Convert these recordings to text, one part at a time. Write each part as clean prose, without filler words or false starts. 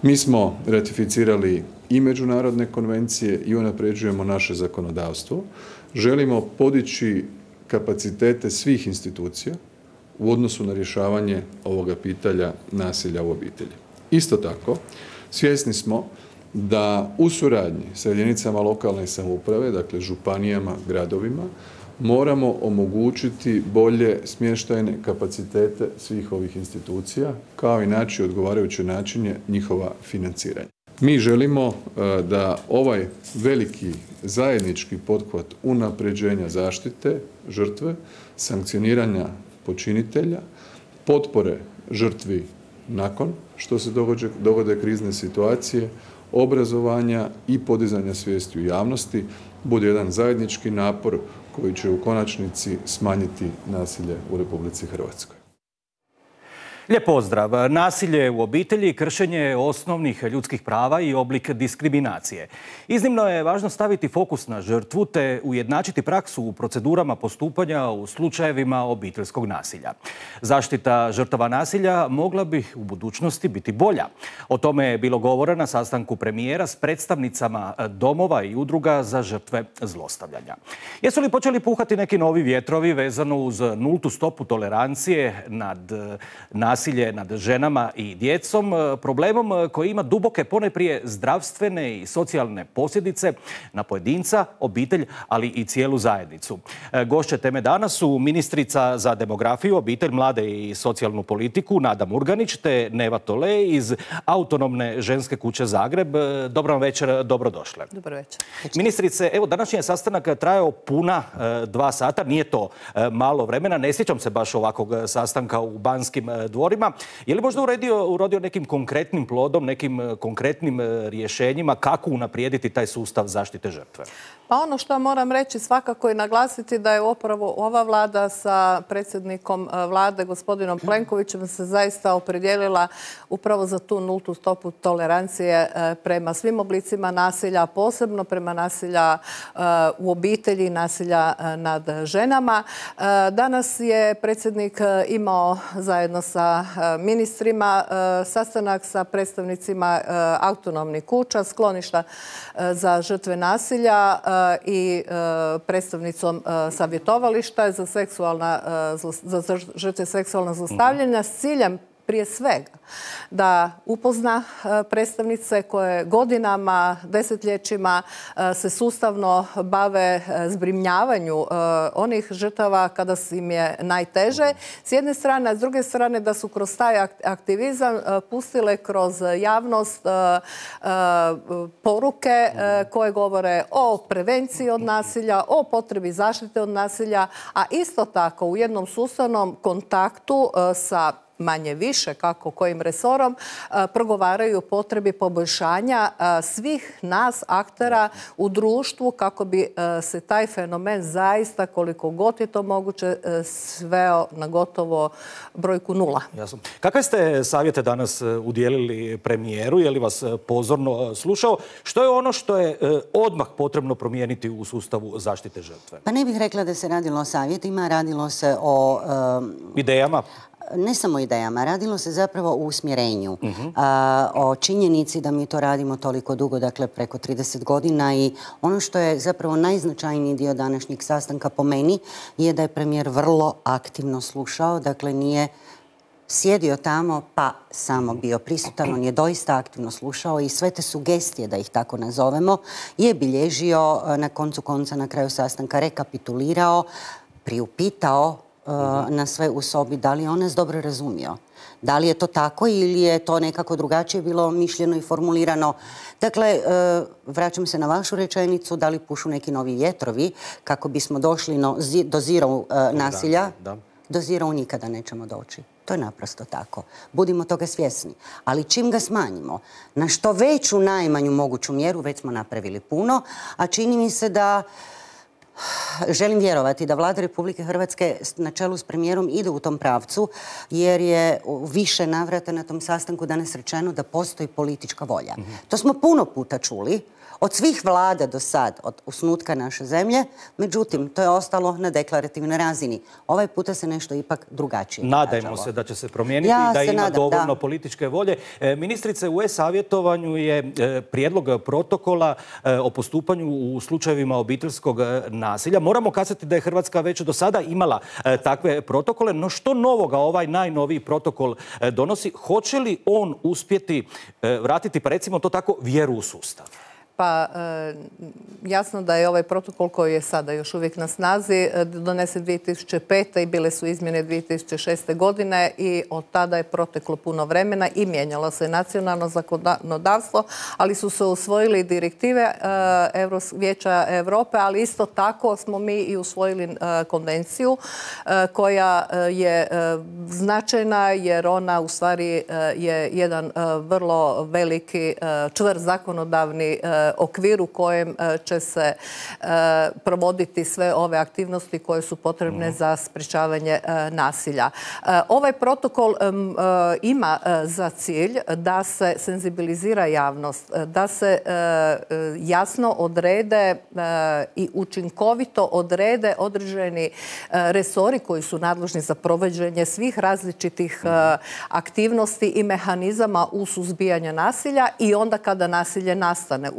Mi smo ratificirali i međunarodne konvencije i unapređujemo naše zakonodavstvo. Želimo podići kapacitete svih institucija u odnosu na rješavanje ovoga pitanja nasilja u obitelji. Isto tako, svjesni smo da u suradnji sa jedinicama lokalne samouprave, dakle županijama, gradovima, moramo omogućiti bolje smještajne kapacitete svih ovih institucija, kao i naći odgovarajuće načine njihova financiranja. Mi želimo da ovaj veliki zajednički pothvat unapređenja zaštite žrtve, sankcioniranja počinitelja, potpore žrtvi nakon što se dogode krizne situacije, obrazovanja i podizanja svijesti u javnosti bude jedan zajednički napor koji će u konačnici smanjiti nasilje u Republici Hrvatskoj. Lijep pozdrav. Nasilje u obitelji, kršenje osnovnih ljudskih prava i oblik diskriminacije. Iznimno je važno staviti fokus na žrtvu te ujednačiti praksu u procedurama postupanja u slučajevima obiteljskog nasilja. Zaštita žrtava nasilja mogla bi u budućnosti biti bolja. O tome je bilo govora na sastanku premijera s predstavnicama domova i udruga za žrtve zlostavljanja. Jesu li počeli puhati neki novi vjetrovi vezano uz nultu stopu tolerancije nad nasilje nad ženama i djecom, problemom koji ima duboke, ponajprije zdravstvene i socijalne posljedice na pojedinca, obitelj, ali i cijelu zajednicu. Gošće teme danas su ministrica za demografiju, obitelj, mlade i socijalnu politiku Nada Murganić te Neva Tole iz Autonomne ženske kuće Zagreb. Dobro vam večer, dobrodošle. Dobro večer. Ministrice, evo današnji je sastanak trajao puna 2 sata, nije to malo vremena, ne sjećam se baš ovakvog sastanka u Banskim dvorima. Je li možda urodio nekim konkretnim plodom, nekim konkretnim rješenjima kako unaprijediti taj sustav zaštite žrtve? Pa ono što moram reći svakako i naglasiti da je upravo ova vlada sa predsjednikom vlade gospodinom Plenkovićem se zaista opredijelila upravo za tu nultu stopu tolerancije prema svim oblicima nasilja, posebno prema nasilja u obitelji, nasilja nad ženama. Danas je predsjednik imao zajedno sa ministrima sastanak sa predstavnicima autonomnih kuća, skloništa za žrtve nasilja i predstavnicom savjetovališta za žrtve seksualnog zlostavljanja s ciljem prije svega da upozna predstavnice koje godinama, desetljećima se sustavno bave zbrinjavanju onih žrtava kada im je najteže. S jedne strane, a s druge strane da su kroz taj aktivizam pustile kroz javnost poruke koje govore o prevenciji od nasilja, o potrebi zaštite od nasilja, a isto tako u jednom sustavnom kontaktu sa manje više kako kojim resorom progovaraju o potrebi poboljšanja svih nas aktera u društvu kako bi se taj fenomen zaista koliko god je to moguće sveo na gotovo brojku 0. Jasno. Kakve ste savjete danas udijelili premijeru? Je li vas pozorno slušao? Što je ono što je odmah potrebno promijeniti u sustavu zaštite žrtve? Pa ne bih rekla da se radilo o savjetima, radilo se o idejama. Ne samo idejama, radilo se zapravo o usmjerenju, o činjenici da mi to radimo toliko dugo, dakle preko 30 godina i ono što je zapravo najznačajniji dio današnjeg sastanka po meni je da je premijer vrlo aktivno slušao, dakle nije sjedio tamo pa samo bio prisutan, on je doista aktivno slušao i sve te sugestije, da ih tako nazovemo, je bilježio na koncu konca na kraju sastanka, rekapitulirao, priupitao na sve u sobi, da li je on nas dobro razumio. Da li je to tako ili je to nekako drugačije bilo mišljeno i formulirano. Dakle, vraćam se na vašu rečenicu, da li pušu neki novi vjetrovi kako bismo došli do zero nasilja. Do zero nikada nećemo doći. To je naprosto tako. Budimo toga svjesni. Ali čim ga smanjimo na što veću najmanju moguću mjeru, već smo napravili puno, a čini mi se da želim vjerovati da Vlada Republike Hrvatske na čelu s premijerom ide u tom pravcu, jer je više navrata na tom sastanku danas rečeno da postoji politička volja. To smo puno puta čuli od svih vlada do sad, od osnutka naše zemlje. Međutim, to je ostalo na deklarativnoj razini. Ovaj puta se nešto ipak drugačije Nadajmo se da će se promijeniti i da ima dovoljno političke volje. Ministrice, u e-savjetovanju je prijedlog protokola o postupanju u slučajevima obiteljskog nasilja. Moramo kazati da je Hrvatska već do sada imala takve protokole, no što novoga ovaj najnoviji protokol donosi? Hoće li on uspjeti vratiti, pa recimo to tako, vjeru u sustav? Pa jasno da je ovaj protokol koji je sada još uvijek na snazi donesen 2005. i bile su izmjene 2006. godine i od tada je proteklo puno vremena i mijenjalo se nacionalno zakonodavstvo, ali su se usvojili direktive Vijeća Europe, ali isto tako smo mi i usvojili konvenciju koja je značajna jer ona u stvari je jedan vrlo veliki čvrst zakonodavni okvir u kojem će se provoditi sve ove aktivnosti koje su potrebne za sprječavanje nasilja. Ovaj protokol ima za cilj da se senzibilizira javnost, da se jasno odrede i učinkovito odrede određeni resori koji su nadležni za provođenje svih različitih aktivnosti i mehanizama u suzbijanju nasilja i onda kada nasilje nastane.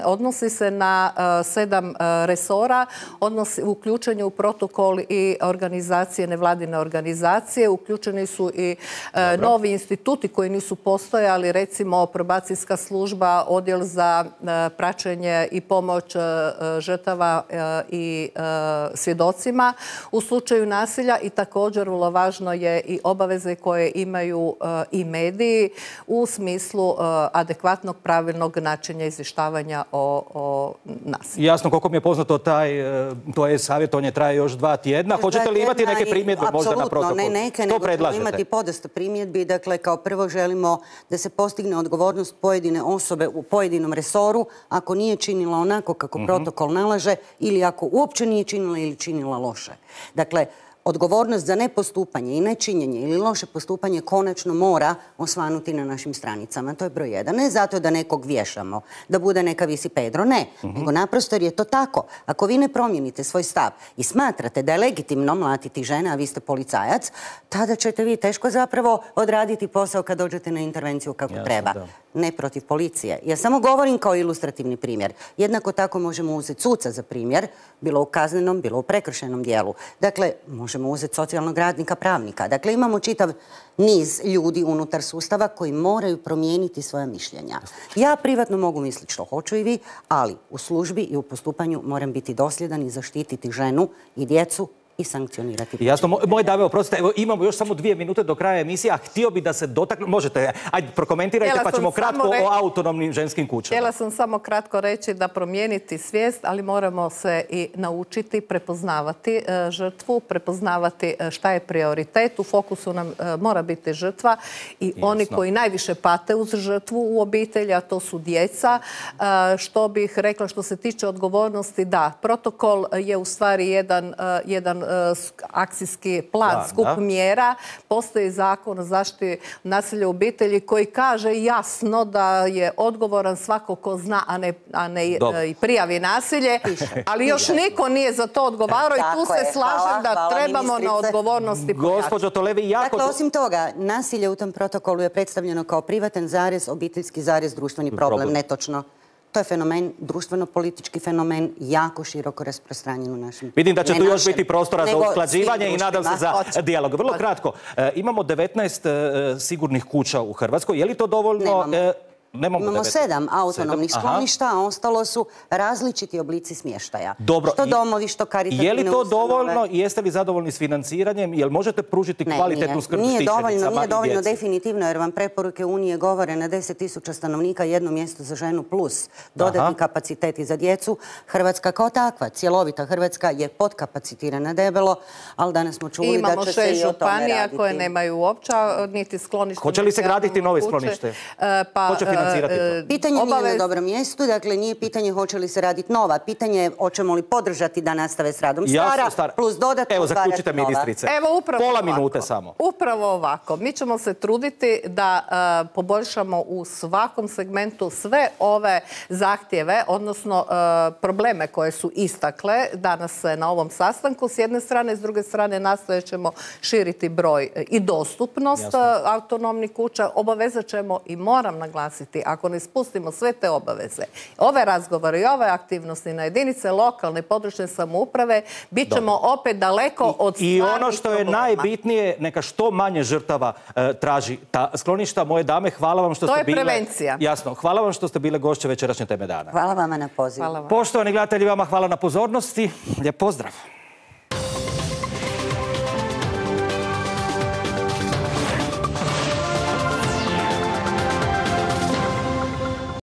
Odnosi se na 7 resora, uključen je u protokol i organizacije, nevladine organizacije, uključeni su i novi instituti koji nisu postojali, recimo probacijska služba, odjel za praćenje i pomoć žrtava i svjedocima u slučaju nasilja i također vrlo važno je i obaveze koje imaju i mediji u smislu adekvatnog pravilnog načina izvještavanja o nasilju. Jasno, koliko mi je poznato, to je savjetovanje traje još 2 tjedna. Hoćete li imati neke primjedbe možda na protokol? Apsolutno, ne neke, nego ćemo imati podosta primjedbi. Dakle, kao prvo želimo da se postigne odgovornost pojedine osobe u pojedinom resoru ako nije činila onako kako protokol nalaže ili ako uopće nije činila ili činila loše. Dakle, odgovornost za nepostupanje i nečinjenje ili loše postupanje konačno mora osvanuti na našim stranicama. To je broj 1. Ne zato da nekog vješamo, da bude neka visi Pedro, ne. Nego naprosto jer je to tako. Ako vi ne promijenite svoj stav i smatrate da je legitimno mlatiti žene, a vi ste policajac, tada ćete vi teško zapravo odraditi posao kad dođete na intervenciju kako treba. Ne protiv policije. Ja samo govorim kao ilustrativni primjer. Jednako tako možemo uzeti suca za primjer, bilo u kaznenom, bilo u prekršajnom dijelu. Dakle, možemo uzeti socijalnog radnika, pravnika. Dakle, imamo čitav niz ljudi unutar sustava koji moraju promijeniti svoja mišljenja. Ja privatno mogu misliti što hoću i vi, ali u službi i u postupanju moram biti dosljedan i zaštititi ženu i djecu i sankcionirati. Jasno, moj Dave, oprostite, evo imamo još samo 2 minute do kraja emisije, a htio bi da se dotakne, možete, ajde prokomentirajte pa ćemo kratko o autonomnim ženskim kućama. Htjela sam samo kratko reći da promijeniti svijest, ali moramo se i naučiti prepoznavati žrtvu, prepoznavati šta je prioritet. U fokusu nam mora biti žrtva i oni koji najviše pate uz žrtvu u obitelji, a to su djeca. Što bih rekla što se tiče odgovornosti, da, protokol je u stvari jedan akcijski plan, skup mjera. Postoji zakon o zaštiti nasilja u obitelji koji kaže jasno da je odgovoran svako ko zna, a ne i prijavi nasilje. Ali još niko nije za to odgovarao i tu se slažem da trebamo na odgovornosti pojačati. Gospođo Tolevi, jako... Dakle, osim toga, nasilje u tom protokolu je predstavljeno kao privatan zarez, obiteljski zarez, društveni problem. Netočno. To je fenomen, društveno-politički fenomen, jako široko rasprostranjen u našem... Vidim da će tu još biti prostora za usklađivanje i nadam se za dijalog. Vrlo kratko, imamo 19 sigurnih kuća u Hrvatskoj. Je li to dovoljno... Imamo 7 autonomnih skloništa, a ostalo su različiti oblici smještaja. Dobro. Što domovi, što karitativne ustanove. Je li to dovoljno i jeste li zadovoljni s financiranjem? Jel možete pružiti kvalitetnu skrb štićenicama i djeci? Nije dovoljno definitivno, jer vam preporuke Unije govore na 10.000 stanovnika 1 mjesto za ženu plus dodatni kapaciteti za djecu. Hrvatska kao takva, cjelovita Hrvatska je podkapacitirana debelo, ali danas smo čuli da će se i o tome raditi. Imamo 6 županija koje nemaju uopće niti sklonište. Hoće li se graditi nove sklonište? financirati to? Pitanje nije na dobrom mjestu, dakle nije pitanje hoće li se raditi nova, pitanje je hoćemo li podržati da nastave s radom stara, plus dodatno Evo, otvarati zaključite, nova. ministrice. Evo, upravo Pola ovako. minute samo. Upravo ovako. Mi ćemo se truditi da poboljšamo u svakom segmentu sve ove zahtjeve, odnosno probleme koje su istakle danas na ovom sastanku. S jedne strane, s druge strane nastojat ćemo širiti broj i dostupnost autonomnih kuća. Obavezat ćemo i moram naglasiti, ako ne spustimo sve te obaveze, ove razgovore i ove aktivnosti na jedinice lokalne i područne samouprave, bit ćemo opet daleko od stvarnih I ono što je problema. najbitnije, neka što manje žrtava traži ta skloništa. Moje dame, hvala vam što ste bile... To je prevencija. Jasno, hvala vam što ste bile gošće večerašnje Teme dana. Hvala vama na pozivu. Hvala vam. Poštovani gledatelji, vama hvala na pozornosti. Lijep pozdrav.